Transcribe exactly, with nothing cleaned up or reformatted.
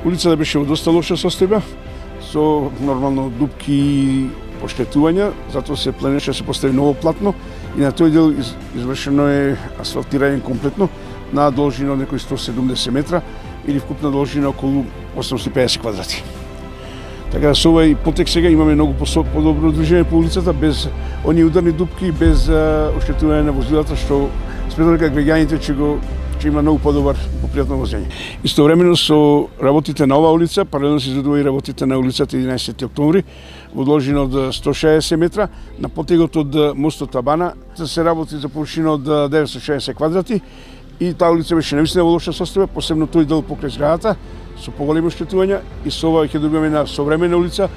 Улицата беше во доста лоша состојба, со нормално дупки и поштетувања, затоа се планираше да се постави ново платно и на тој дел извршено е асфалтирање комплетно на должина од некои сто седумдесет метра или вкупна должина околу осумстотини и педесет квадрати. Така да со овој потек сега имаме многу подобро движење по улицата, без оние ударни дупки, без оштетување на возилата, што сметам дека граѓаните ќе го ќе има многу подобар попријатно возење. Истовремено со работите на оваа улица, паралелно се изведува и работите на улицата единаесети октомври во должина од сто шаесет метра, на потегот од мостот Табана се работи за површина од деветстотини и шаесет квадрати и таа улица беше навистина во лоша состојба, посебно тој дел покрај зградата, со поголеми оштетувања и со ова ќе добиваме една современа улица